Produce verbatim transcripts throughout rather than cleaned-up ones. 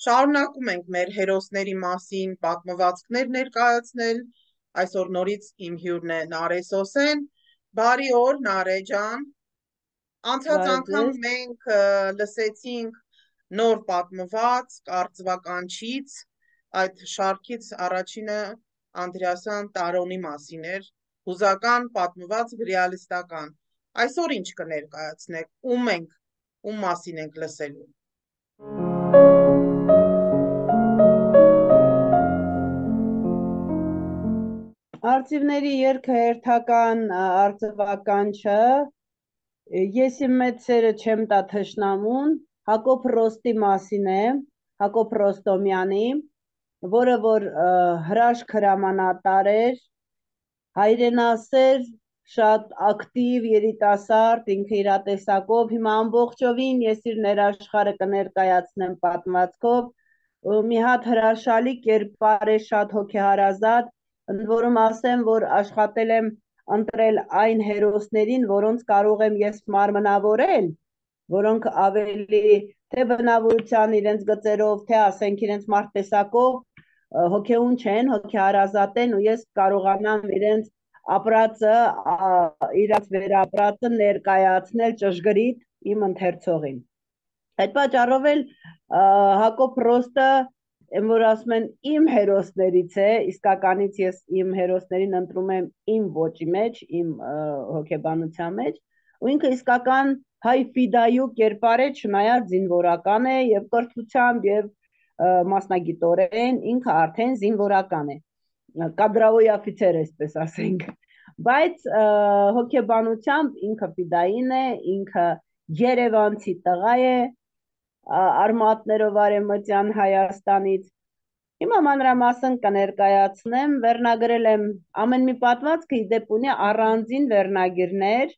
Շարունակում ենք մեր հերոսների մասին պատմվածքներ ներկայացնել։ Այսօր նորից իմ հյուրն է Նարե Սոսեն։ Բարի օր, Նարե ջան։ Անցած Բարև անգամ ձեզ։ մենք ը, լսեցինք նոր պատմված կարծվականչից, այդ շարքից առաջինը Անդրեասյան Տարոնի մասին էր, հուզական պատմված ռեալիստական։ Այսօր ինչ կներկայացնեք, ում ենք, ում մասին ենք լսելու։ Արծիվների երգը հերթական ա, արձվականչը է, ես իմ մեծ սերը չեմ տա թշնամուն, Հակոբ Ռոստի մասին է, Հակոբ Ռոստոմյանի, որը որ ա, հրաշք հրամանատար էր, հայրենասեր, շատ ակտիվ երիտասարդ, ինքը իր տեսակով, հիմա ամբողջովին ես իր ներաշխարը կներկայացնեմ պատմվածքով, ու մի հատ հրաշալի կերպար է, շատ հոգեհարազատ, ընդ որում ասեմ, որ աշխատել եմ ընտրել այն հերոսներին, որոնց կարող եմ ես մարմնավորել, որոնք ավելի թե բնավորության իրենց գծերով, թե ասենք իրենց մարդտեսակով ը, հոգեուն չեն, հոգեհարազատ են ու ես կարողանամ իրենց ապրածը, ա, իրաց վերապրածը ներկայացնել ճշգրիտ իմ ընթերցողին։ Այդ պատճառով էլ ա, Հակոբ Ռոստը, եմ որ ասում են իմ հերոսներից է, իսկականից ես իմ հերոսներին ընտրում եմ իմ ոճի մեջ, իմ ա, հոգեբանության մեջ, ու ինքը իսկական հայ ֆիդայու կերպար է, չնայած զինվորական է եւ կրթությամբ եւ ա, մասնագիտորեն ինքը արդեն զինվորական է, կադրավոյ օֆիցեր, այսպես ասենք, բայց ա, հոգեբանությամբ ինքը ֆիդային է, ինքը երևանցի տղա է, ա, արմատներով արևմտյան Հայաստանից։ Հիմա մանրամասն կներկայացնեմ, վերնագրել եմ ամեն մի պատմվածքը ի դեպ ունի առանձին վերնագիրներ,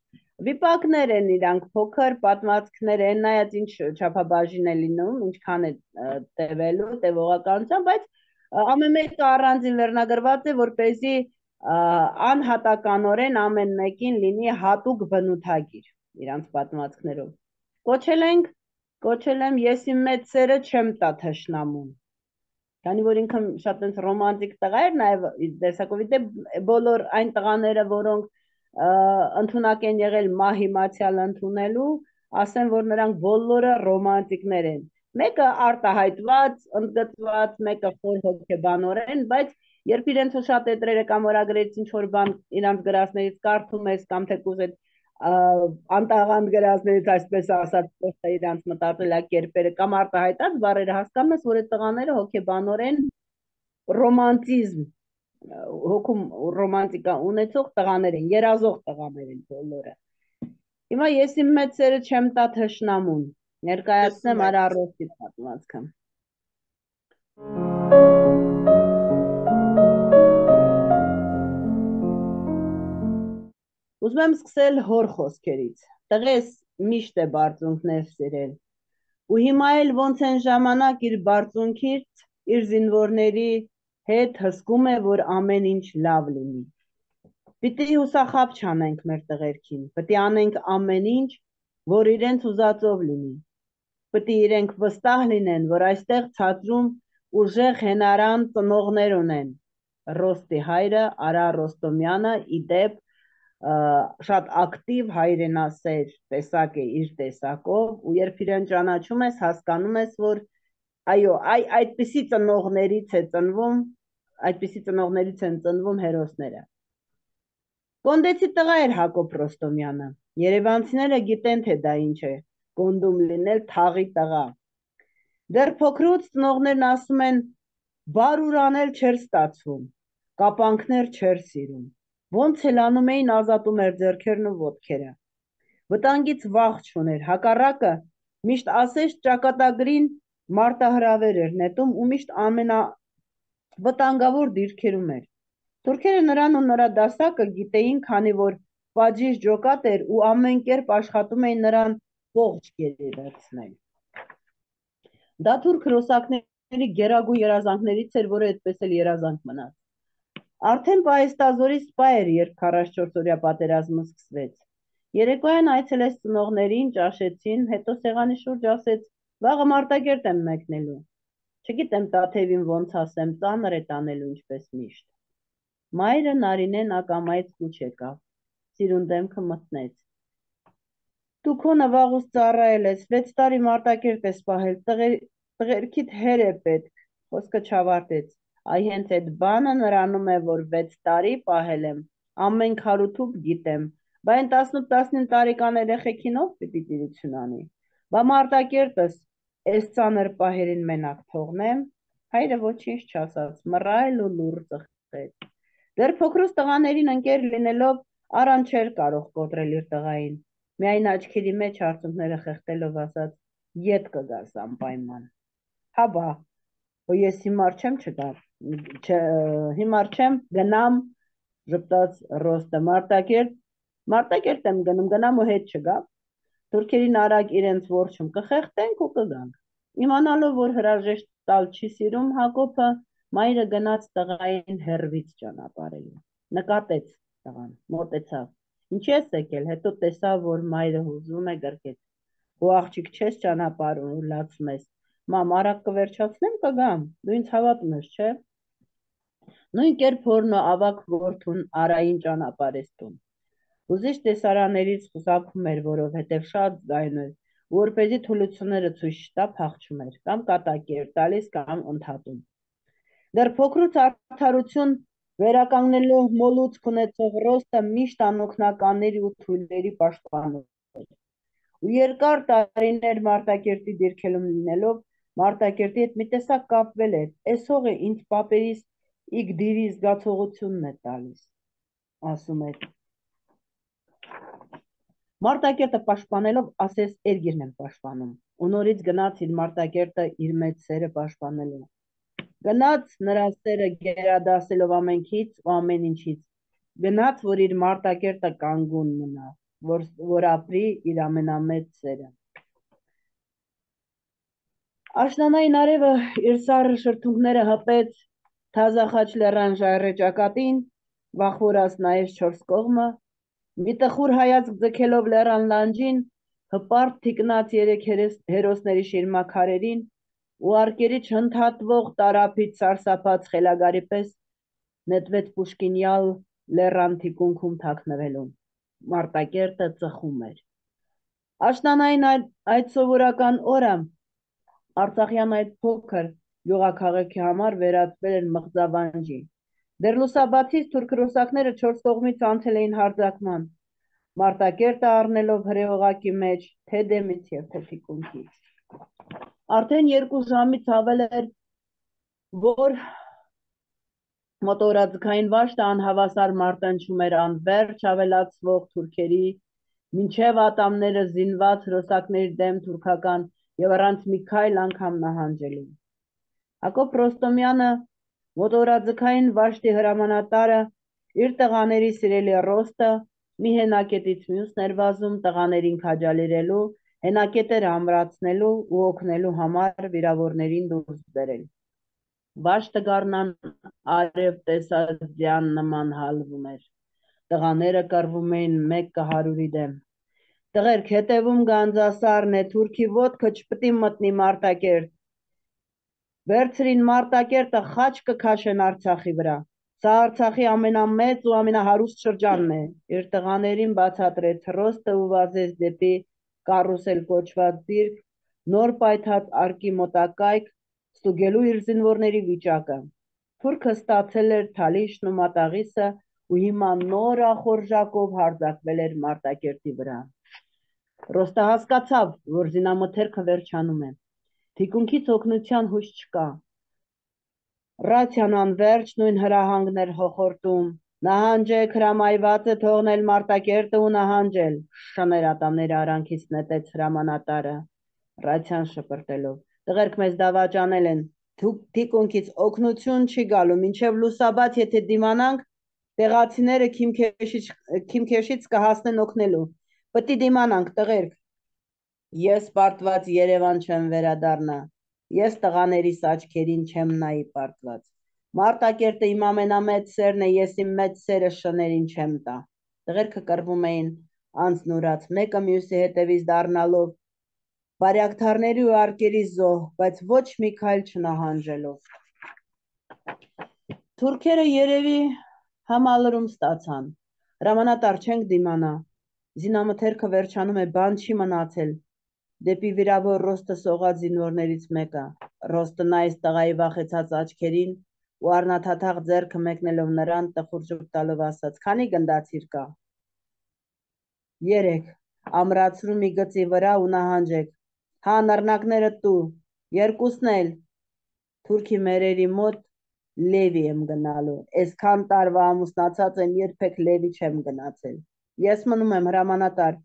վիպակներ են իրանք փոքր պատմվածքներ են, նայած ինչ չափաբաժին է լինում, ինչքան է ա, տևելու, տևողականությամբ, բայց ա, ամեն մեկը առանձին վերնագրված է, որպեսզի ա, անհատականորեն ամեն մեկին լինի հատուկ բնութագիր իրանց պատմվածքներով։ Կոչել ենք, կոչել եմ ես իմ մեծ սերը չեմ տա թշնամուն։ Քանի որ ինքը շատ այնց ռոմանտիկ տղա էր, նաև իր տեսակով, ի դեպ բոլոր այն տղաները, որոնք ա, ընդունակ են եղել մահի մացյալ ընդունելու, ասեմ, որ նրանք բոլորը ռոմանտիկներ են։ Մեկը արտահայտված, ընդգծված, մեկը խոր հոգեբանորեն, բայց երբ իրենց շատ էտրերը կամ օրագրերից ինչ որ բան իրանց գրածներից կարդում ես կամ թեկուզ այդ ա, անտաղանդ գրածներից այսպես ասած փոխը իրանց մտածելակերպերը կամ արտահայտած բառերը հասկանում ես, որ այդ տղաները հոգեբանորեն ռոմանտիզմ ա, հոգում ռոմանտիկա ունեցող տղաներ են, երազող տղաներ են բոլորը։ Հիմա ես իմ մեծ սերը չեմ տա թշնամուն, Լսում ներկայացնեմ ենք։ Արա Ռոստի պատմվածքը։ Ուզում եմ սկսել հոր խոսքերից։ Տղես միշտ է բարձունքներ սիրել։ Ու հիմա էլ ոնց են ժամանակ իր բարձունքից իր զինվորների հետ հսկում է, որ ամեն ինչ լավ լինի։ Պիտի հուսախաբ չանենք մեր տղերքին, պիտի անենք ամեն ինչ, որ իրենց ուզածով լինի։ Պիտի իրենք վստահ լինեն, որ այստեղ ցածրում ուժեղ հենարան ծնողներ ունեն։ Ռոստի հայրը Արա Ռոստոմյանը ի դեպ ա, շատ ակտիվ հայրենասեր տեսակ է իր տեսակով ու երբ իրեն ճանաչում ես, հասկանում ես, որ այո, այ այդպիսի ծնողներից է ծնվում, այդպիսի ծնողներից են ծնվում հերոսները։ Կոնդեցի տղա էր Հակոբ Ռոստոմյանը։ Երևանցիները գիտեն, թե դա ինչ է, կոնդում լինել թաղի տղա։ Դեռ փոքրուց ծնողներն ասում են, բարուր անել չէր ստացվում, կապանքներ չէր սիրում։ Ոնց էլ անում էին, ազատում էր ձեռքերն ու ոտքերը։ Վտանգից վախ չուներ, հակառակը միշտ ասես ճակատագրին մարտահրավեր էր նետում ու միշտ ամենավտանգավոր դիրքերում էր։ Թուրքերը նրան ու նրա դասակը գիտեին, քանի որ պատժիժ ջոկատ էր ու ամեն կերպ աշխատում էին նրան ողջ գերի վերցնել։ Դա թուրք ռուսակների գերագույն երազանքներից էր, որը այդպես էլ երազանք մնաց։ Արդեն պահեստազորի սպա էր, երբ քառասունչորսօրյա պատերազմը սկսվեց։ Երեկոյան այցելեց ծնողներին, ճաշեցին, հետո սեղանի շուրջ ասեց, վաղը Մարտակերտ եմ մեկնելու։ Չգիտեմ Տաթևին ոնց ասեմ, ծանր է տանելու ինչպես միշտ։ Մայրը Նարինեն ակամայից կուչ եկավ, սիրուն դեմքը մտնեց։ Դու քո նվաղուց ծառայել ես, վեց տարի Մարտակերտ ես պահել, տղերքիդ հեր է պետք, խոսքը չավարտեց, այ հենց այդ բանը նրանում է, որ վեց տարի պահել եմ, ամեն քարութուփ գիտեմ, բա այն տասնութ-տասնինը տարեկան երեխեքին ով պիտի տիրություն անի, բա Մարտակերտս էս ծանր պահերին մենակ թողնեմ, հայրը ոչինչ չասաց, մռայլ ու լուռ ծխեց, դեռ փոքրուց տղաներին ընկեր լինելով Արան չէր կարող կոտրել իր տղային, միայն աչքերի մեջ արցունքները խեղդելով ասաց, ետ կգաս անպայման, հա բա, հո ես հիմար չեմ չգար, հիմար չեմ գնամ, ժպտաց Ռոստը, Մարտակերտ, Մարտակերտ եմ գնում, գնամ ու հետ չգամ, թուրքերին արագ իրենց որջում կխեղդենք ու կգանք, իմանալով, որ հրաժեշտ տալ չի սիրում Հակոբը, մայրը գնաց տղային հեռվից ճանապարհելու, նկատեց տղան, մոտեցավ, ինչի ես եկել, հետո տեսավ, որ մայրը հուզվում է գրկեց, ու աղջիկ չես ճանապարհում լացում ես, մամ արագ կվերջացնեմ կգամ, դու ինձ հավատում ես, չէ, նույն կերպ հորն ու ավագ որդուն Արային ճանապարհեց տուն, հուզիչ տեսարաններից խուսափում էր, որովհետև շատ ձայն էր, որպեսզի թուլությունները ցույց չտա փախչում էր, կամ կատակի էր տալիս, կամ ընդհատում, դեռ փոքրուց արդարություն վերականգնելու մոլուցք ունեցող Ռոստը միշտ անօգնականների ու թույլերի պաշտպան էր, ու երկար տարիներ Մարտակերտի դիրքելում լինելով, Մարտակերտի հետ մի տեսակ կապվել էր, էս հողը ինձ պապերիս իգդիրի զգացողությունն է տալիս, ասում էր, Մարտակերտը պաշտպանելով ասես Էրգիրն եմ պաշտպանում, ու նորից գնաց իր Մարտակերտը իր մեծ սերը պաշտպանելու, գնաց նրա սերը գերադասելով ամենքից ու ամեն ինչից, գնաց, որ իր Մարտակերտը կանգուն մնա, որ, որ ապրի իր ամենամեծ սերը։ Աշնանային արևը իր սառը շրթունքները հպեց թազախաչ լեռան ժայռե ճակատին, վախվորած նայեց չորս կողմը, մի տխուր հայացք ձգելով լեռան լանջին, հպարտ թիկնած երեք հերոսների շիրմաքարերին ու արկերի չընդհատվող տարափից սարսափած խելագարի պես նետվեց Պուշկինյալ լեռան թիկունքում թաքնվելու, Մարտակերտը ծխում էր։ Աշնանային այդ սովորական օրը Արցախյան այդ փոքր գյուղաքաղաքի համար վերածվել էր մղձավանջի, դեռ լուսաբացից թուրք ռուսակները չորս կողմից անցել էին հարձակման, Մարտակերտը առնելով հրեողակի մեջ թե դեմից և թե թիկունքից։ Արդեն երկու ժամից ավել էր, որ մոտորաձգային վաշտը անհավասար մարտնչում էր անվերջ ավելացվող թուրքերի, մինչև ատամները զինված հրոսակների դեմ թուրքական և առանց մի քայլ անգամ նահանջելու։ Հակոբ Ռոստոմյանը, մոտորաձգային վաշտի հրամանատարը, իր տղաների սիրելի Ռոստը, մի հենակետից մյուսն էր վազում տղաներին քաջալերելու, հենակետերը ամրացնելու ու օգնելու համար վիրավորներին դուրս բերել։ Վաշտը գարնան արև տեսած ձյան նման հալվում էր, տղաները կռվում էին մեկ կհարյուրի դեմ։ Տղերք, հետևում գանձասառն է, թուրքի ոտքը չպիտի մտնի Մարտակերտ, վերցրին Մարտակերտը խաչ կքաշեն Արցախի վրա, սա Արցախի ամենամեծ ու ամենահարուստ շրջանն է, իր տղաներին բացատրեց Ռոստը ու վազեց դեպի կարուսել կոչված դիրք, նոր պայթած արկի մոտակայք, ստուգելու իր զինվորների վիճակը, թուրքը ստացել էր Թալիշն ու Մատաղիսը ու հիմա նոր ախորժակով հարձակվել էր Մարտակերտի վրա։ Ռոստը հասկացավ, որ զինամթերքը վերջանում է, թիկունքից օգնության հույս չկա, ռացիան անվերջ նույն հրահանգն էր հոխորտում, նահանջեք, հրամայված է թողնել Մարտակերտը ու նահանջել, շներ ատամները արանքից նետեց հրամանատարը, ռացիան շպրտելով, տղերք մեզ դավաճանել են, թիկունքից օգնություն չի գալու, մինչև լուսաբաց եթե դիմանանք, տեղացիները քիմքեշից կհասնեն օգնելու, պտի դիմանանք տղերք, ես պարտված Երևան չեմ վերադառնա, ես տղաներիս աչքերին չեմ նայի պարտված, Մարտակերտը իմ ամենամեծ սերն է, ես իմ մեծ սերը շներին չեմ տա, տղերքը կռվում էին անձնուրաց, մեկը մյուսի հետևից դառնալով, բարյակթարների ու արկերի զոհ, բայց ոչ մի քայլ չնահանջելով։ Թուրքերը երևի համալրում ստացան, հրամանատար չենք դիմանա, զինամթերքը վերջանում է, բան չի մնացել, դեպի վիրավոր Ռոստը սողած զինվորներից մեկը, Ռոստը նայեց տղայի վախեցած աչքերին ու առնաթաթախ ձեռքը մեկնելով նրան տխուր ժպ տալով ասաց. «Քանի գնդացիր կա»։ Երեք, ամրացրու մի գծի վրա ու նահանջեք, հա նռնակները տու, երկուսն էլ, թուրքի մերերի մոտ Լևի եմ գնալու, այսքան տարվա ամուսնացած եմ, երբեք Լևի չեմ գնացել, ես մնում եմ հրամանատար,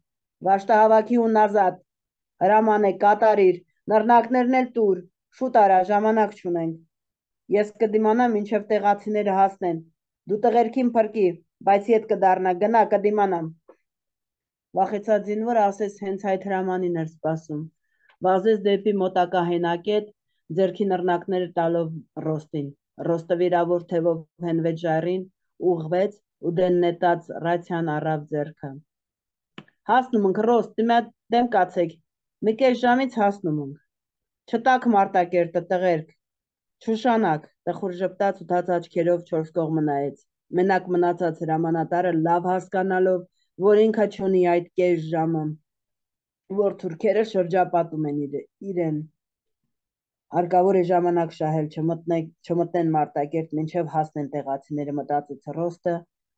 վաշտահավաքի ու նազատ, հրաման է կատարիր, նռնակներն էլ տուր, շուտ արա, ժամանակ չունենք, ես կդիմանամ մինչև տեղացիները հասնեն, դու տղերքին փրկի, բայց ետ կդառնա, գնա կդիմանամ։ Վախեցած զինվորը ասես հենց այդ հրամանին էր սպասում, վազեց դեպի մոտակա հենակետ, ձեռքի նռնակները տալով Ռոստին, Ռոստը վիրավոր թևով հենվեց ժայռին, ուղղվեց ու դեն նետած ռացիան առավ ձեռքը։ Հասնում ենք Ռոստ, դեմ կացեք, մի կես ժամից հասնում ենք։ Չտաք Մարտակերտը տղերք, չուշանաք, տխուր ժպտաց ու թաց աչքերով չորս կողմը նայեց։ Մենակ մնացած հրամանատարը լավ հասկանալով, որ ինքը չունի այդ կես ժամը, որ թուրքերը շրջապատում են իրեն։ Հարկավոր է ժամանակ շահել, չմտնեն Մարտակերտ, մինչև հասնեն տեղացիները, մտածեց Ռոստը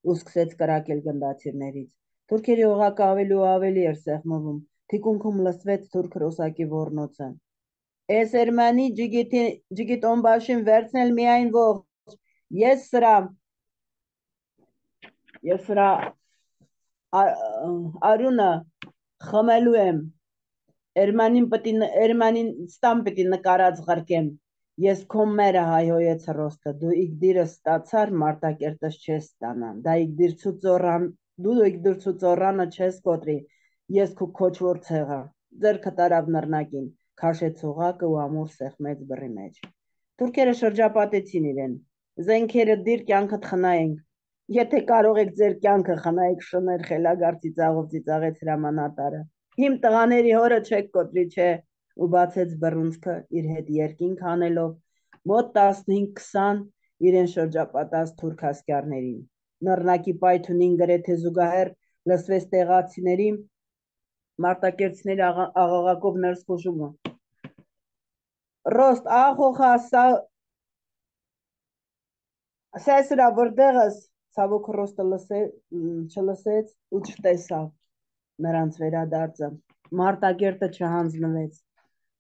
ու սկսեց կրակել գնդացիրներից։ Թուրքերի օղակը ավելի ու ավելի էր սեղմվում, թիկունքում լսվեց թուրք ռոսակի ոռնոցը։ Էս Էրմանի ջիգիտոմբաշին վերցնել միայն ողջ, ես սրա, ես սրա արյունը խմելու եմ, Էրմանին ստան պիտի նկարած ղրկեմ, ես քո մերը հայհոյեց Ռոստը, դու իգդիրս ստացար, Մարտակերտս չես ստանա, դու իգդրցու ծոռանը չես կոտրի, ես քո քոչվոր ցեղը, ձեռքը տարավ նռնակին, քաշեց օղակը ու ամուր սեղմեց բռի մեջ։ Թուրքերը շրջապատեցին իրեն, զենքերը դիր կյանքդ խնայենք, եթե կարող եք ձեր կյանքը խնայեք, շներ խելագար ծիծաղով ծիծաղեց հրամանատարը, իմ տղաների հորը չեք կոտրի, չէ, ու բացեց բռունցքը իր հետ երկինք հանելով, մոտ տասնհինգ-քսան իրեն շրջապատած թուրք ասկերներին, նռնակի պայթունին գրեթե զուգահեռ լսվեց տեղացիների մարտակերտցիների աղաղակով ներս խուժումը։ Ռոստ, ախոխա, սա սրա որտեղս, ցավոք Ռոստը չլսեց ու չտեսավ նրանց վերադարձը, Մարտակերտը չհանձնվեց։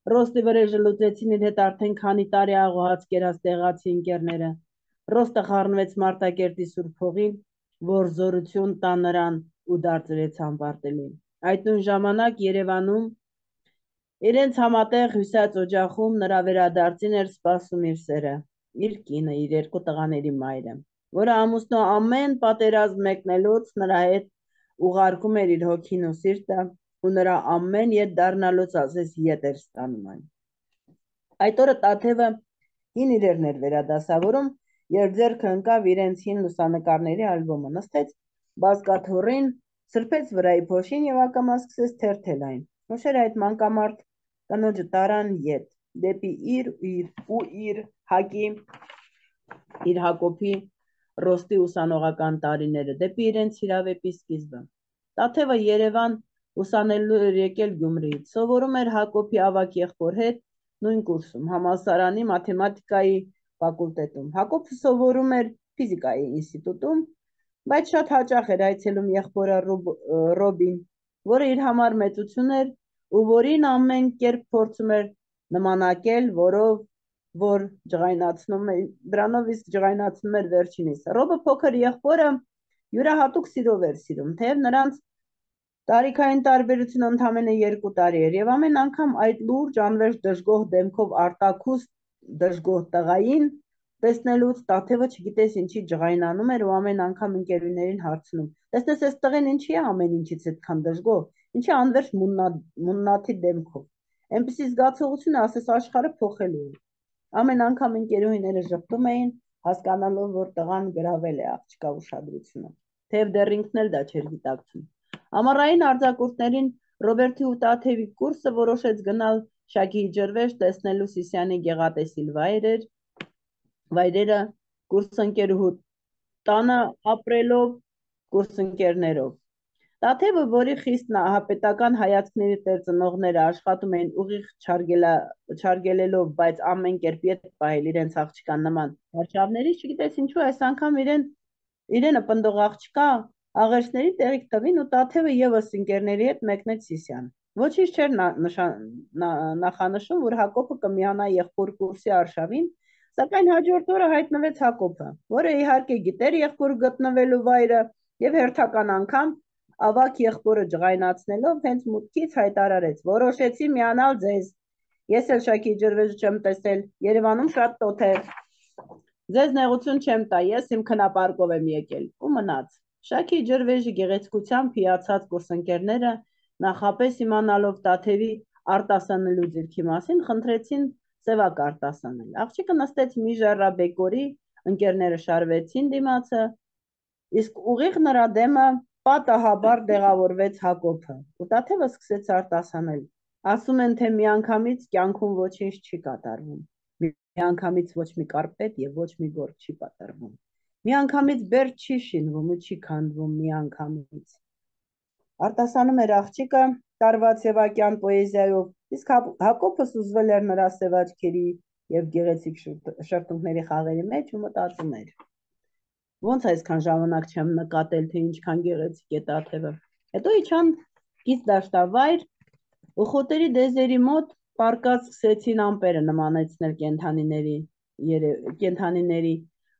Ռոստի վրեժը լուծեցին իր հետ արդեն քանի տարի աղոհած կերած տեղացի ընկերները։ Ռոստը խառնվեց Մարտակերտի սուրբ հողին, որ զորություն տա նրան ու դարձրեց անպարտելի։ Այդ նույն ժամանակ Երևանում իրենց համատեղ հյուսած օջախում նրա վերադարձին էր սպասում իր սերը, իր կինը, իր երկու տղաների մայրը, որը ամուսնու ամեն պատերազմ մեկնելուց նրա հետ ուղարկում էր իր հոգին ու սիրտը ու նրա ամեն ետ դառնալուց ասես ետ էր ստանում այն։ Այդ օրը Տաթևը հին իրերն էր վերադասավորում, երբ ձեռքը ընկավ իրենց հին լուսանկարների ալբոմը, նստեց բազկաթոռին, սրբեց վրայի փոշին եւ ակամա սկսեց թերթել այն։ Ուշեր այդ մանկամարտ կնոջը տարան ետ, դեպի իր ու իր Հակի, իր Հակոբի, Ռոստի ուսանողական տարիները, դեպի իրենց հիրավեպի սկիզբը։ Տաթևը Երևան ուսանելու էր եկել Գյումրիից, սովորում էր Հակոբի ավագ եղբոր հետ նույն կուրսում, համալսարանի մաթեմատիկայի ֆակուլտետում, Հակոբը սովորում էր ֆիզիկայի ինստիտուտում, բայց շատ հաճախ էր այցելում եղբորը Ռոբին, որը իր համար մեծություն էր ու որին ամեն կերպ փորձում էր նմանակել, որով որ ջղայնացնում էր, դրանով իսկ ջղայնացնում էր վերջինիս։ Ռոբը փոքր եղբորը յուրահատուկ սիրով էր սիրում, թեև նրանց տարիքային տարբերությունը ընդամենը երկու տարի էր եւ ամեն անգամ այդ լուրջ անվերջ դժգոհ դեմքով արտաքուստ դժգոհ տղային տեսնելուց Տաթևը չգիտես ինչի ջղայնանում էր ու ամեն անգամ ընկերուհիներին հարցնում. «Տեսնես այս տղեն ինչի է ամեն ինչից այդքան դժգոհ, ինչի անվերջ մուննաթի դեմքով»։ Այնպիսի զգացողությունը ասես աշխարհը փոխելու է։ Ամեն անգամ ընկերուհիները ժպտում էին, հասկանալով, որ տղան գրավել է աղջկա ուշադրությունը, թեև դեռ ինքն էլ դա չէր գիտակցում։ Ամառային արձակուրդներին Ռոբերտի ու Տաթևի կուրսը որոշեց գնալ Շակի ջրվեժ տեսնելու Սիսյանի գեղատեսիլ վայրեր, վայրերը կուրսընկերուհու տանը ապրելով կուրսընկերներով։ Տաթևը, որի խիստ նահապետական հայացքների տերծնողները աշխատում էին ուղիղ չարգելելով, բայց ամեն կերպ ետ պահել իրենց աղջկան նման վարչավներից, չգիտես ինչու այս անգամ իրեն իրենը պնդող աղջկա աղերսների տեղիք տվին ու Տաթևը ևս ընկերների հետ մեկնեց Սիսիան։ Ոչինչ չէր նախանշում, որ Հակոբը կմիանա եղբոր կուրսի արշավին, սակայն հաջորդ օրը հայտնվեց Հակոբը, որը իհարկե գիտեր եղբոր գտնվելու վայրը եւ հերթական անգամ ավակ եղբորը ջղայնացնելով հենց մուտքից հայտարարեց. որոշեցի միանալ ձեզ։ Ես էլ Շակի ջրվեժը չեմ տեսել, Երևանում շատ տոթ է։ Ձեզ նեղություն չեմ տա, ես իմ քնապարկով եմ եկել ու մնաց։ Շակի ջրվեժի գեղեցկությամբ հիացած կուրսընկերները նախապես իմանալով Տաթևի արտասանելու ձիրքի մասին խնդրեցին սևակ արտասանել։ Աղջիկը նստեց մի ժառաբեկորի, ընկերները շարվեցին դիմացը, իսկ ուղիղ նրա դեմը պատահաբար տեղավորվեց Հակոբը, ու Տաթևը սկսեց արտասանել։ Ասում են, թե միանգամից կյանքում ոչինչ չի կատարվում, միանգամից ոչ մի կարպետ եւ ոչ մի գործ չի պատրվում, միանգամից բերդ չի շինվում ու չի քանդվում միանգամից։ Արտասանում էր աղջիկը տարվա սևակյան պոեզիայով, իսկ Հակոբը սուզվել էր նրա սևաչքերի եւ գեղեցիկ շրթունքների խաղերի մեջ ու մտածում էր. ոնց այսքան ժամանակ չեմ նկատել, թե ինչքան գեղեցիկ է Տաթևը։ Հետո իջան գից դաշտավայր ու խոտերի դեզերի մոտ պարկած սկսեցին ամպերը նմանեցնել կենդանիների, կենդանիների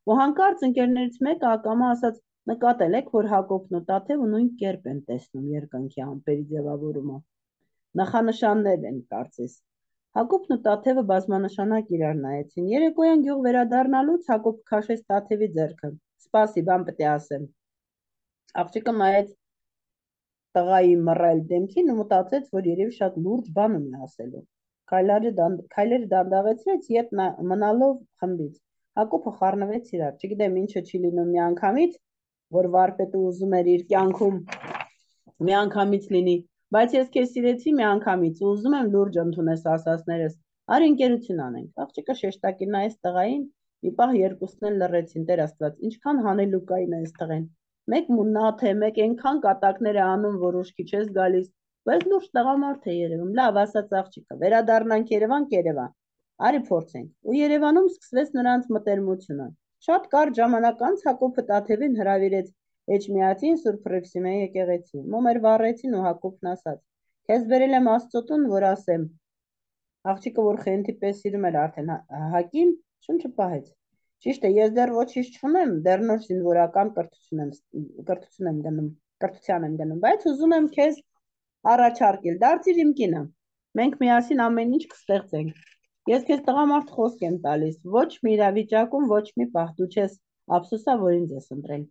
ու հանկարծ ընկերներից մեկը ակամա ասաց. նկատել եք, որ Հակոբն ու Տաթևը նույն կերպ են տեսնում երկնքի ամպերի ձևավորումը։ Նախանշաններ են, կարծես։ Հակոբն ու Տաթևը բազմանշանակ իրար նայեցին։ Երեկոյան գյուղ վերադառնալուց Հակոբը քաշեց Տաթևի ձեռքը. Սպասի, բան պետք է ասեմ։ Աղջիկը նայեց տղայի մռայլ դեմքին ու մտածեց, որ երևի շատ լուրջ բան ունի ասելու։ Քայլերը դանդաղեցրեց, ետ մնալով խմբից։ Հակոբը խառնվեց իրար, չգիտեմ ինչը չի լինում միանգամից, որ վարպետը ուզում էր իր կյանքում միանգամից լինի, բայց ես քեզ սիրեցի միանգամից ու ուզում եմ լուրջ ընդունես ասածներս, արի ընկերություն անենք։ Աղջիկը շեշտակի նայեց տղային, մի պահ երկուսն էլ լռեցին, Տեր Աստված, ինչքան հանելուկային է այս տղեն։ Մեկ մունաթ է, մեկ այնքան կատակներ է անում, որ ուշքի չես գալիս, բայց լուրջ տղամարդ է երևում։ Լավ, ասաց աղջիկը, վերադառնանք Երևան, Կերևան։ Արի փորձենք։ Ու Երևանում սկսվեց նրանց մտերմությունը։ Շատ կարճ ժամանակ անց Հակոբը Տաթևին հրավիրեց Էջմիածին Սուրբ Հռիփսիմեի եկեղեցի։ Մոմեր վառեցին ու Հակոբն ասաց. Քեզ բերել եմ Աստծոտուն, որ ասեմ։ Աղջիկը, որ խենթի պես սիրում էր արդեն Հակին, շունչը պահեց։ Ճիշտ է, ես դեռ ոչինչ չունեմ, դեռ նոր զինվորական կրթություն եմ կրթություն եմ գնում, կրթության եմ գնում, բայց ուզում եմ քեզ առաջարկել, դարձիր իմ կինը։ Մենք միասին ամեն ինչ կստեղծենք։ Ես քեզ տղամարդ խոսք եմ տալիս, ոչ մի իրավիճակում, ոչ մի պահ դու չես ափսոսա, որ ինձ ես ընտրել։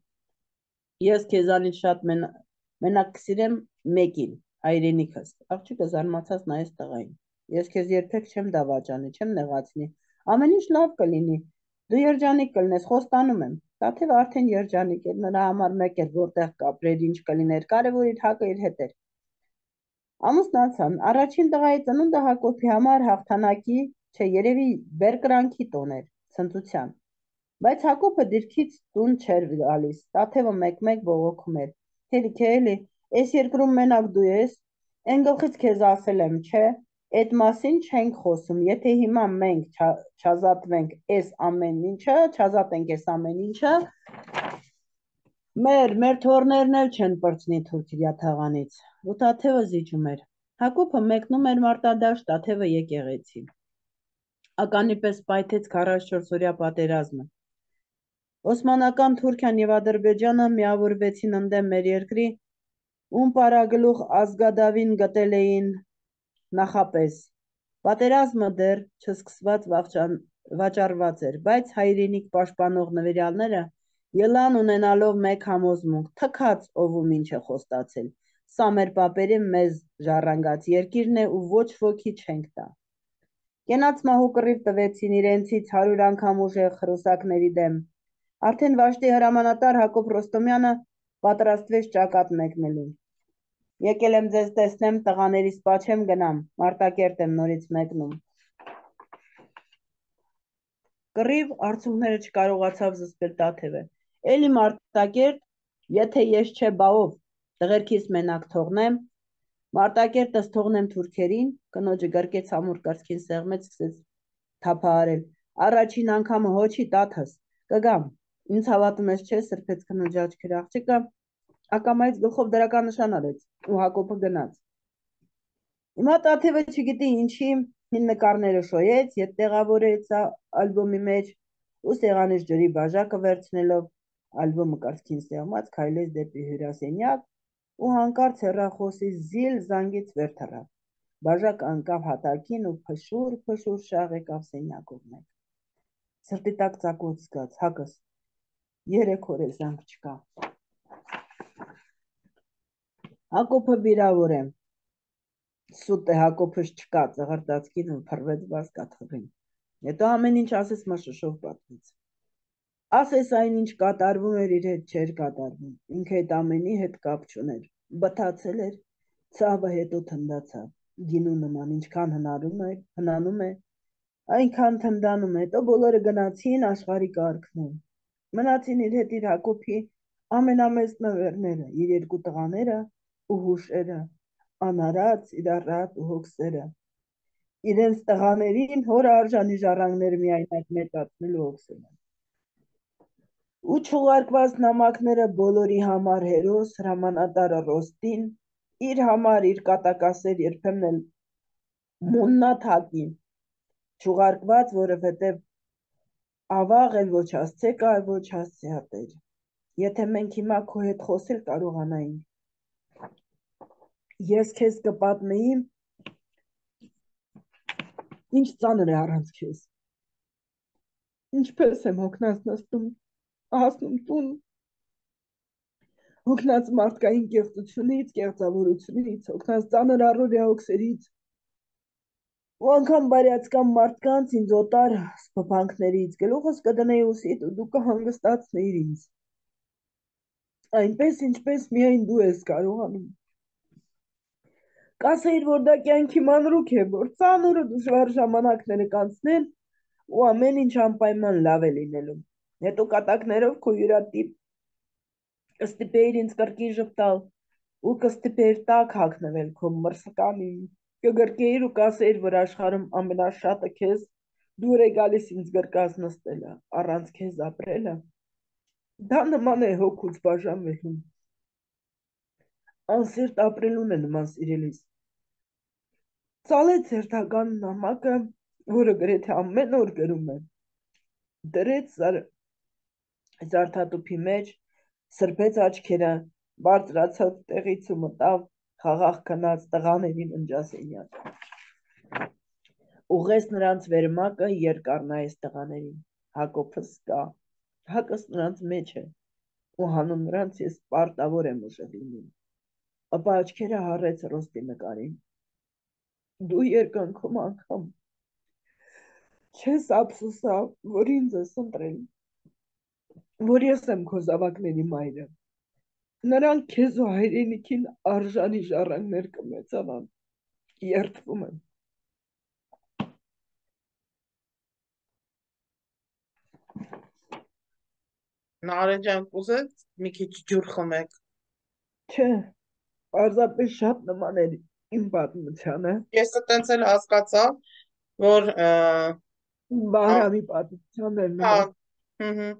Ես քեզանից շատ մենակ կսիրեմ մեկին, հայրենիքս։ Աղջիկը զարմացած նայեց տղային։ Ես քեզ երբեք չեմ դավաճանի, չեմ նեղացնի։ Ամեն ինչ լավ կլինի։ Դու երջանիկ կլինես, խոստանում եմ։ Տաթևը արդեն երջանիկ էր, նրա համար մեկ էր, որտեղ կապրեր, ինչ կլիներ, կարևոր իր Հակը իր հետ էր։ Ամուսնացան։ Առաջին տղայի ծնունդը Հակոբի համար հաղթանակի, չէ, երևի բերկրանքի տոն էր, ցնծության։ Բայց Հակոբը դիրքից տուն չէր գալիս, Տաթևը մեկ-մեկ բողոքում էր։ Հելիք է, էլի, այս երկրում մենակ դու ես, այն գլխից քեզ ասել եմ, չէ, այդ մասին չենք խոսում, եթե հիմա մենք չազատվենք այս ամեն ինչը, չազատենք այս ամեն ինչը, մեր, մեր թորներն էլ չեն պրծնի Թուրքիա թաղանից, ու Տաթևը զիջում էր։ Հակոբը մեկնում էր մարտադաշտ, Տաթևը եկեղեցի։ Ականի պես պայթեց քառասունչորս օրյա պատերազմը։ Օսմանական Թուրքիան եւ Ադրբեջանը միավորվեցին ընդդեմ մեր երկրի, ում պարագլուխ Ազգադավին գտել էին նախապես։ Պատերազմը դեռ չսկսված վաճառված էր, բայց հայրենիք պաշտպանող նվիրյալները ելան ունենալով մեկ համոզմունք, թքած ով ինչ է խոստացել։ Սա մեր պապերի մեզ ժառանգած երկիրն է ու ոչ ոքի չենք տա։ Կենաց մահու կռիվ տվեցին իրենցից հարյուր անգամ ուժեղ խրուսակների դեմ։ Արդեն Վաշտի հրամանատար Հակոբ Ռոստոմյանը պատրաստվեց ճակատ մեկնելու։ Եկել եմ ձեզ տեսնեմ, տղաների սպա չեմ գնամ, Մարտակերտ եմ նորից մեկնում։ Կռիվ արցունքները չկարողացավ զսպել Տաթևը։ Էլի Մարտակերտ, եթե ես չէ բաով, տղերքիս մենակ թողնեմ, Մարտակերտս թողնեմ թուրքերին, կնոջը գրկեց ամուր կրծքին սեղմեց, սկսեց թափահարել։ Առաջին անգամը հոչի Տաթս, կգամ, ինձ հավատում ես չէ, սրբեց կնոջ աչքերը աղջիկը, ակամայից գլխով դրական նշան արեց ու Հակոբը գնաց։ Հիմա Տաթևը չգիտի ինչի հին նկարները շոյեց, ետ տեղավորեց ալբոմի մեջ ու սեղանից ջրի բաժակը վերցնելով ալբոմը կրծքին սեղմած քայլեց դեպի հյուրասենյակ ու հանկարծ հեռախոսի զիլ զանգից վեր թռավ։ Բաժակը ընկավ հատակին ու փշուր փշուր շաղ եկավ սենյակով մեկ։ Սրտի տակ ծակոց զգաց, Հակս, երեք օր է զանգ չկա։ Հակոբը վիրավոր է։ Սուտ է Հակոբս չկա, ծղրտացքին ու փռվեց բազկաթղին։ Հետո ամեն ինչ ասես մշշով պատմեց։ Ասես այն ինչ կատարվում էր իր հետ չէր կատարվում, ինքը այդ ամենի հետ կապ չուներ, բթացել էր, ցավը հետո թնդացավ, գինու նման ինչքան հնարում է, հնանում է, այնքան թնդանում է, հետո բոլորը գնացին աշխարհի կարգն։ Մնացին իր հետ իր Հակոբի ամենամեծ նվերները, իր երկու տղաները ու հուշերը, անարած, իրարատ ու հոգսերը, իրենց տղաներին հոր արժանի ժառանգները միայնակ մեծացնել ու հոգսել են։ Ու չուղարկված նամակները բոլորի համար հերոս հրամանատարը Ռոստին, իր համար իր կատակասեր երբեմն էլ մուննաթակին, չուղարկված, որովհետև ավաղ էլ ոչ հասցե կա, ոչ հասցե հատեր։ Եթե մենք հիմա քո հետ խոսել կարողանայինք, ես քեզ կպատմեի, ինչ ծանր է առանց քեզ, ինչպես եմ հոգնած նստում, հասնում տուն, հոգնած մարդկային կեղծությունից, կեղծավորությունից, հոգնած ծանր առօրյա հոգսերից, ու անգամ բարյացկամ մարդկանց ինձ օտար սփոփանքներից, գլուխս կդնեի ուսիդ ու դու կհանգստացնեիր ինձ, այնպես ինչպես միայն դու ես կարողանում, կասեիր, որ դա կյանքի մանրուք է, որ ծանր ու դժվար ժամանակները կանցնեն ու ամեն ինչ անպայման լավ է լինելու, հետո կատակներով քո յուրատիպ կստիպեիր ինձ կրկին ժպտալ ու կստիպեիր տակ հագնվել քո մրսկանին, կգրկեիր ու կասեիր, որ աշխարհում ամենաշատը քեզ դուր է գալիս ինձ գրկած նստելը, առանց քեզ ապրելը, դա նման է հոգուց բաժանվելուն, անսիրտ ապրելուն է նման սիրելիս։ Ծալեց հերթական նամակը, որը գրեթե ամեն օր գրում է, դրեց զարդատուփի մեջ, սրբեց աչքերը, բարձրացավ տեղից ու մտավ խաղաղ քնած տղաներին ընջասենյակ։ Ուղղեց նրանց վերմակը, երկար նայեց տղաներին, Հակոբս կա, Հակս նրանց մեջ է, ու հանուն նրանց ես պարտավոր եմ ուժեղ լինում, ապա աչքերը հառեց Ռոստի նկարին, դու երկնքում անգամ չես ափսոսա, որ ինձ ես ընտրել, որ ես եմ քո զավակների մայրը, նրանք քեզ ու հայրենիքին արժանի ժառանգներ կմեծանան, երդվում եմ։ Նարեջան կուզեց մի քիչ ջուր խմեք։ Չէ, պարզապես շատ նման էր իմ պատմությանը։ Ես տենց էլ հասկացա, որ Բարամի պատմության էր հա, նման։ հհ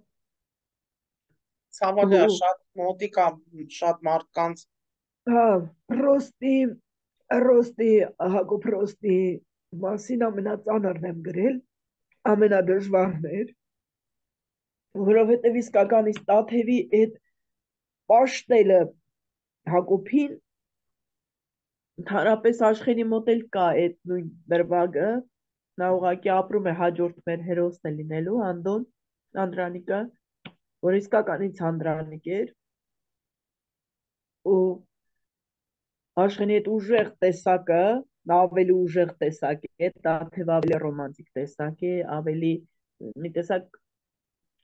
ցավալի է, շատ մոտիկ է շատ մարդկանց։ Հա, Ռոստի, Ռոստի, Հակոբ Ռոստի մասին ամենածանրն եմ գրել, ամենադժվարն էր, որովհետև իսկականից Տաթևի այդ պաշտելը Հակոբին ընդհանրապես աշխենի մոտ էլ կա այդ նույն դրվագը, նա ուղղակի ապրում է հաջորդ մեր հերոսն է լինելու, Անդոն, Անդրանիկը, որ իսկականից Անդրանիկ էր, ու աշխենի այդ ուժեղ տեսակը, նա ավելի ուժեղ տեսակ է, Տաթև ավելի ռոմանտիկ տեսակ է, ավելի մի տեսակ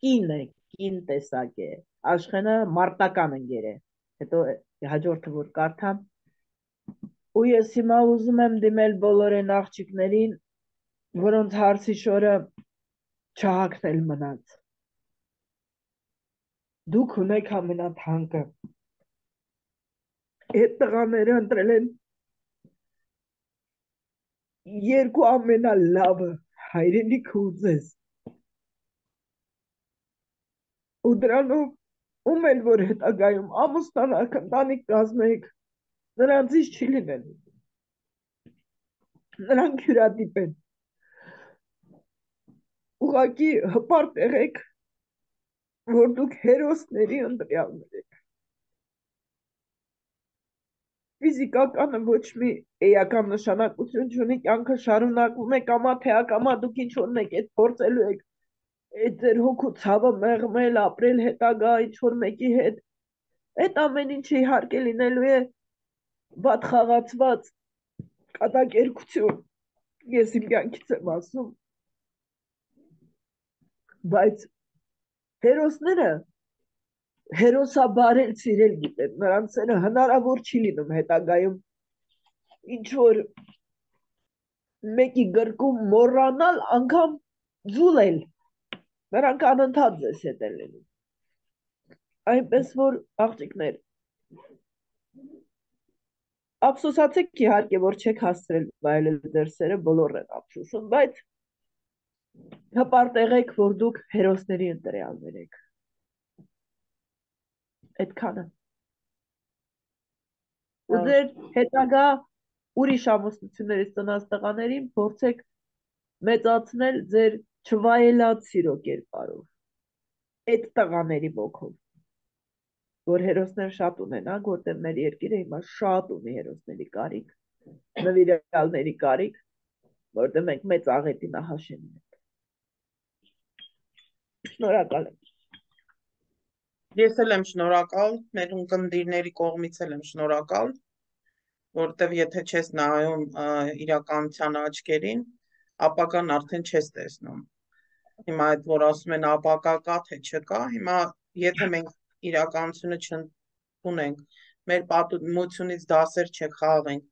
կին է, կին տեսակ է, աշխենը մարտական ընկեր է, հետո հաջորդը որ կարդամ, Ու ես հիմա ուզում եմ դիմել բոլոր այն աղջիկներին, որոնց հարցի շորը չհագնել մնաց։ Դուք ունեք ամենաթանկը։ Այդ տղաները ընտրել են երկու ամենալավը, հայրենիքը ու ձեզ։ Ու դրանով ում էլ որ հետագայում ամուսնանաք, ընտանիք կազմեք, նրանցից չի լինելու։ Նրանք հյուրատիպ են։ Ուղղակի հպարտ եղեք, որ դուք հերոսների ընտրյալներ եք։ Ֆիզիկականը ոչ մի էական նշանակություն չունի, կյանքը շարունակվում է, կամա թե ակամա դուք ինչ որ մեկ այդ փորձելու եք, այդ ձեր հոգու ցավը մեղմել, ապրել հետագա ինչ որ մեկի հետ։ Այդ ամեն ինչը իհարկե լինելու է վատ խաղացված կատակերգություն, ես իմ կյանքից եմ ասում, բայց հերոսները հերոսաբարել սիրել գիտեն, նրանց հնարավոր չի լինում հետագայում ինչ որ մեկի գրկում մոռանալ, անգամ ձուլել, նրանք անընդհատ ձեզ հետ են լինում։ Այնպես որ աղջիկներ, ափսոսացեք իհարկե, որ չեք հասցրել վայելել ձեր սերը, բոլորն են ափսոսում, բայց հպարտ եղեք, որ դուք հերոսների ընտրյալներ եք։ Այդքանը։ Ու ձեր հետագա ուրիշ ամուսնություններից ծնած տղաներին փորձեք մեծացնել ձեր չվայելած սիրո կերպարով, այդ տղաների ոգով, որ հերոսներ շատ ունենանք, որտեղ մեր երկիրը հիմա շատ ունի հերոսների կարիք, նվիրյալների կարիք, որտեղ մենք մեծ աղետի նախաշեն ենք։ Շնորհակալ եմ։ Ես էլ եմ շնորհակալ, մեր ունկնդիրների կողմից էլ եմ շնորհակալ, որտեվ եթե չես նայում իրականության աչքերին, ապագան արդեն չես տեսնում։ Հիմա այդ որ ասում են ապագա կա թե չկա, հիմա եթե մենք իրականությունը չունենք, մեր պատմությունից դասեր չխաղենք,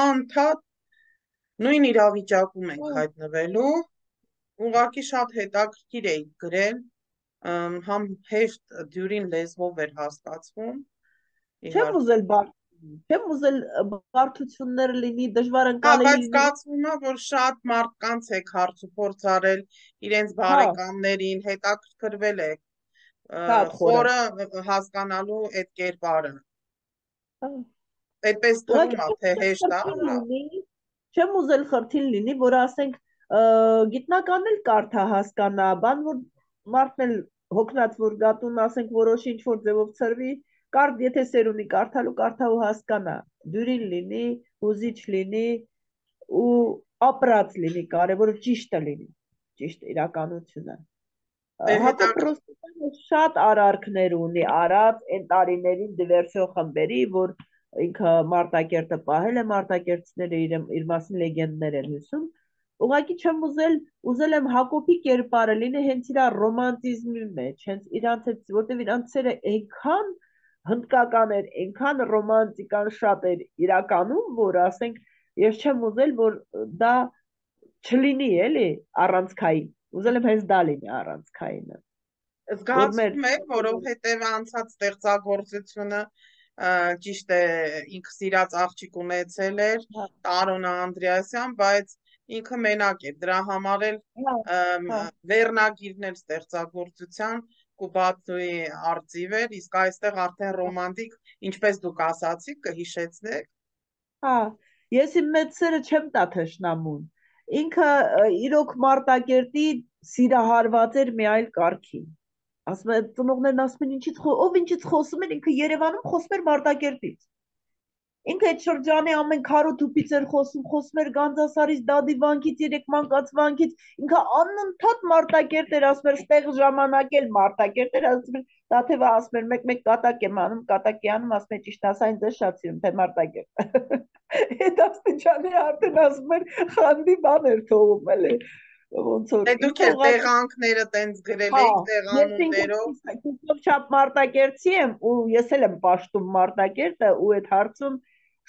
անդադ նույն իրավիճակում ենք հայտնվելու, ուղղակի շատ հետաքրքիր է գրել, համ հեշտ դյուրին լեզվով էր հասկացվում։ Չեմ ուզել բարդ, չեմ ուզել բարդություններ լինի, դժվար ընկալելի լինի։ Բայց զգացվում է, որ շատ մարդկանց եք հարց ու փորձ արել, իրենց բարեկամներին, հետաքրքրվել եք, խորը հասկանալու այդ կերպարը։ Այդպես թվում է, թե հեշտ է։ Չեմ ուզել խրթին լինի, որ ասենք գիտնական էլ կարդա հասկանա, բան որ մարդն էլ հոգնած որ գատուն ասենք որոշ ինչ որ ձևով ծրվի, կարդ եթե սերունի կարդալու կարդա ու հասկանա, դյուրին լինի, հուզիչ լինի ու ապրած լինի, կարևորը ճիշտը լինի, ճիշտ իրականությունը։ Հակոբ Ռոստոմյանը շատ արարքներ ունի, արած այն տարիներին դիվերսիոն խմբերի, որ ինքը Մարտակերտը պահել է, մարտակերտցիները իր մասին լեգենդներ են հյուսում, ուղղակի չեմ ուզել, ուզել եմ Հակոբի կերպարը լինի հենց իր ռոմանտիզմի մեջ, հենց իրանց հետ, որտեվ իրանց սերը այնքան հնդկական էր, այնքան ռոմանտիկան շատ էր իրականում, որ ասենք, ես չեմ ուզել, որ դա չլինի էլի առանցքային, ուզել եմ հենց դա լինի առանցքայինը։ Զգացվում է, որովհետև անցած ստեղծագործությունը ճիշտ է, ինքը սիրած աղջիկ ունեցել էր, Տարոնա Անդրեասյան, բայց ինքը մենակ է, դրա համար էլ վերնագիրն էլ ստեղծագործության Կուբատոյի արծիվ էր, իսկ այստեղ արդեն ռոմանտիկ, ինչպես դուք ասացիք, կհիշեցնեք։ Հա, ես իմ մեծ սերը չեմ տա թշնամուն, ինքը իրոք Մարտակերտի սիրահարված էր մի այլ կարգի։ Ասում է, ծնողներն ասում են ինչից խոսում, ով ինչից խոսում էր, ինքը Երևանում խոսում էր Մարտակերտից։ Ինքը այդ շրջանի ամեն քարոթուփից էր խոսում, խոսում էր Գանձասարից, Դադի վանքից, երեք մանկաց վանքից, ինքը անընդհատ Մարտակերտ էր, ասում էր, ստեղ ժամանակ էլ Մարտակերտ էր, ասում էր, Տաթևը ասում էր, մեկ-մեկ կատակ եմ անում, կատակի անում, ասում է, ճիշտ ասա, ինձ շատ սիրում, թե Մարտակերտ։ Այդ աստիճանի արդեն ասում էր, խանդի բան էր թողում էլի։ Ոնց որ դուք էլ տեղանքները տենց գրել եք տեղանուններով։ Ես չափ Մարտակերտցի եմ ու ես էլ եմ պաշտում Մարտակերտը ու այդ հարցում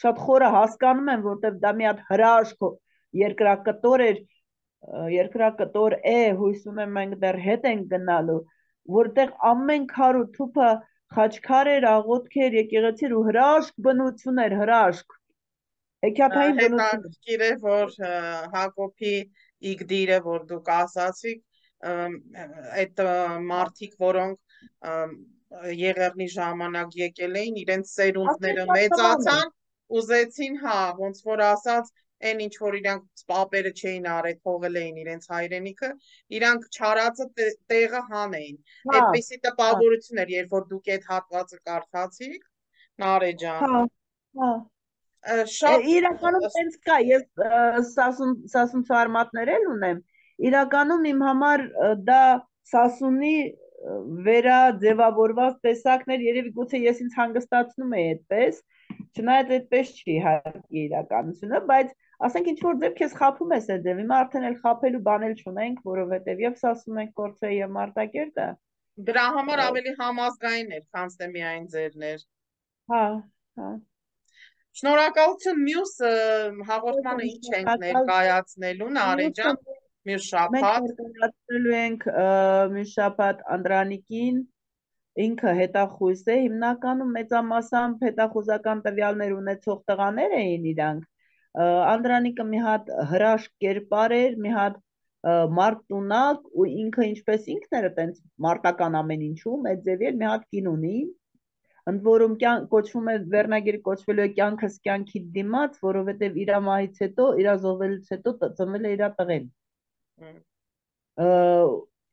շատ խորը հասկանում եմ, որտեվ դա մի հատ հրաշք երկրակտոր էր, երկրակտոր է, հույս ունեմ մենք դեռ հետ ենք գնալու, որտեղ ամեն քար ու թուփը խաչքար էր, աղոթքեր, եկեղեցիր ու հրաշք բնություն էր, հրաշք, հեքիաթային բնություն։ Հետաքրքիր է, որ Հակոբի իգդիրը, որ դուք ասացիք, այդ մարդիկ, որոնք Եղեռնի ժամանակ եկել էին, իրենց սերունդները մեծացան, ուզեցին, հա, ոնց որ ասած, այն ինչ որ իրանք պապերը չէին արել, թողել էին իրենց հայրենիքը, իրանք չարածը տեղը հանեին։ Այդպիսի տպավորություն էր, երբ որ դուք այդ հատվածը կարդացիք, Նարէ ջան։ Հա, հա։ Շատ իրականում տենց կա, ես Սասուն ֆարմատներ էլ ունեմ, իրականում իմ համար դա Սասունի վերաձևավորված տեսակներ, երևի գուցե ես ինձ հանգստացնում էի այդպես, չնայած այդպես չի իհարկե իրականությունը, բայց ասենք ինչ որ ձև քեզ խաբում ես այդ ձև, հիմա արդեն էլ խաբելու բան էլ չունենք, որովհետև եւ Սասուն ենք Կորցրե եւ Մարտակերտը։ Դրա համար ավելի համազգային էր, քան թե միայն ձերներ։ Հա, հա։ Շնորհակալություն, մյուս հաղորդմանը ինչ ենք ներկայացնելու, Նարէ ջան, մյուս շաբաթ։ Մենք ներկայացնելու ենք մյուս շաբաթ Անդրանիկին, ինքը հետախույզ է, հիմնականում մեծամասամբ հետախուզական տվյալներ ունեցող տղաներ էին իրանք, Անդրանիկը մի հատ հրաշք կերպար էր, մի հատ մարտունակ ու ինքը ինչպես ինքն էր այտենց մարտական ամեն ինչում, այդ ձևի էր մի հատ կին ունի, ընդ որում կոչվում է վերնագիրը կոչվելու է կյանքս կյանքի դիմաց, որովհետև իր մահից հետո, իր զոհվելուց հետո ծնվել է իր տղեն։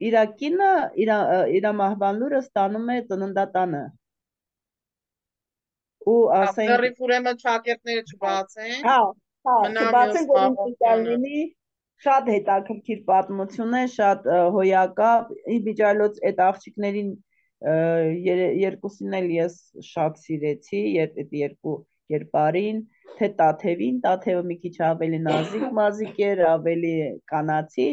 Իր կինը իր մահվան լուրը ստանում է ծննդատանը։ Ու ասենք Դեռ ուրեմն ճակերտները չբացեն։ Հա, հա, չբացենք, որ ինքնիդեալ լինի, շատ հետաքրքիր պատմություն է, շատ հոյակապ, իբիջայլոց այդ աղջիկներին երկուսին էլ ես շատ սիրեցի, այդ երկու կերպարին, թե Տաթևին, Տաթևը մի քիչ ավելի նազիկ մազիկ էր, ավելի կանացի,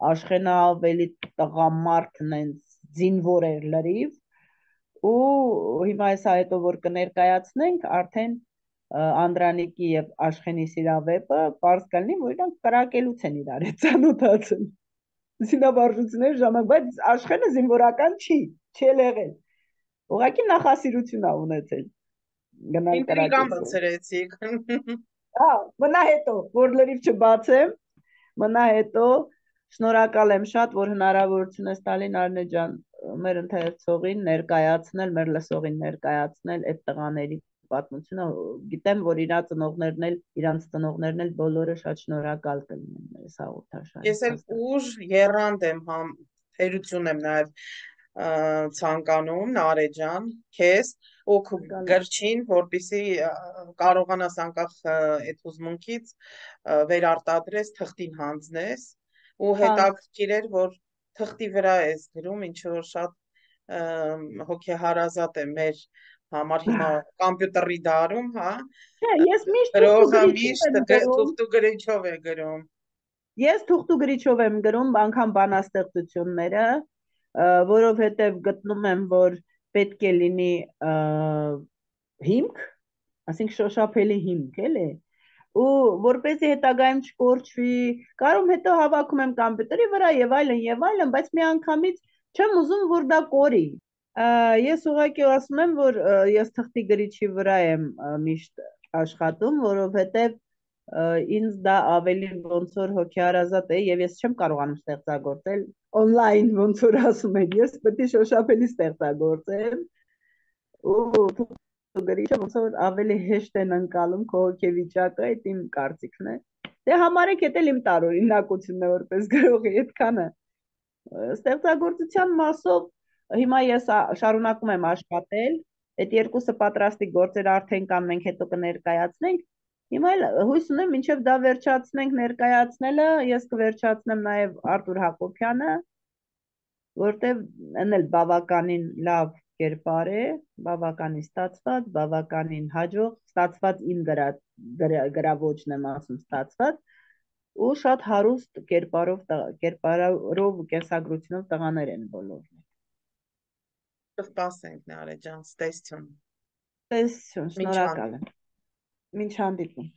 Աշխենը ավելի տղամարդ նենց զինվոր էր լրիվ, ու հիմա այսա հետո որ կներկայացնենք, արդեն Անդրանիկի եւ Աշխենի սիրավեպը պարզ կլինի, որ իրանք կրակելուց են իրար հետ ծանոթացել։ Զինավարժությունների ժամանակ, բայց Աշխենը զինվորական չի, չի եղել։ Ուղղակի նախասիրություն ա ունեցել։ Գնալ կրակել։ Ինտրիգան բացրեցիք։ Հա, մնա հետո, որ լրիվ չբացեմ, մնա հետո, շնորհակալ եմ շատ, որ հնարավորություն ես տալի Նարինե ջան, մեր ընթերցողին ներկայացնել, մեր լսողին ներկայացնել այդ տղաների պատմությունը, գիտեմ, որ իրա ծնողներն էլ, իրանց ծնողներն էլ բոլորը շատ շնորհակալ կլինեն այս հաղորդաշարին։ Ես էլ ուժ եռանդ եմ համ թերություն եմ նաև ցանկանում, Նարէ ջան, քեզ ու գրչին, որպեսզի կարողանաս անկախ այդ հուզմունքից վերարտադրես, թղթին հանձնես ու հետաքրքիր էր, որ թղթի վրա ես գրում, ինչ որ շատ հոգեհարազատ է մեր համար հիմա կոմպյուտերի դարում, հա։ Ես միշտ գրողը միշտ թուղթ ու գրիչով է գրում։ Ես թուղթ ու գրիչով եմ գրում, անգամ բանաստեղծությունները, որովհետև գտնում եմ, որ պետք է լինի հիմք, ասենք շոշափելի հիմք, էլի, ու որպեսզի հետագայում չկորչվի, կարում հետո հավաքում եմ կոմպյուտերի վրա եւ այլն եւ այլն, բայց մի անգամից չեմ ուզում, որ դա կորի։ Ես ուղղակի ասում եմ, որ ես թղթի գրիչի վրա եմ միշտ աշխատում, որովհետև ինձ դա ավելի ոնց որ հոգեհարազատ է եւ ես չեմ կարողանում ստեղծագործել on-line ոնց որ ասում են, ես պետք է շոշափելի ստեղծագործեմ ու գրիչը ոնց որ ավելի հեշտ են ընկալում քո հոգեվիճակը, այդ իմ կարծիքն է։ Դե համարեք, դա էլ իմ տարօրինակությունն է որպես գրողի, այդքանը։ Ստեղծագործության մասով հիմա ես շարունակում եմ աշխատել, այդ երկուսը պատրաստի գործեր արդեն կան, մենք հետո կներկայացնենք, հիմա էլ հույս ունեմ մինչև դա վերջացնենք ներկայացնելը, ես կվերջացնեմ նաև Արտուր Հակոբյանը, որտև այն էլ բավականին լավ կերպար է, բավականին ստացված, բավականին հաջող, ստացված իմ գրավոճն եմ ասում ստացված, ու շատ հարուստ կերպարով, կերպարով ու կենսագրությունով տղաներ են բոլորն։ Կսպասենք, Նարէ ջան, ստեսություն։ Ստեսություն, շնորհակալ եմ։ Մինչ հանդիպում։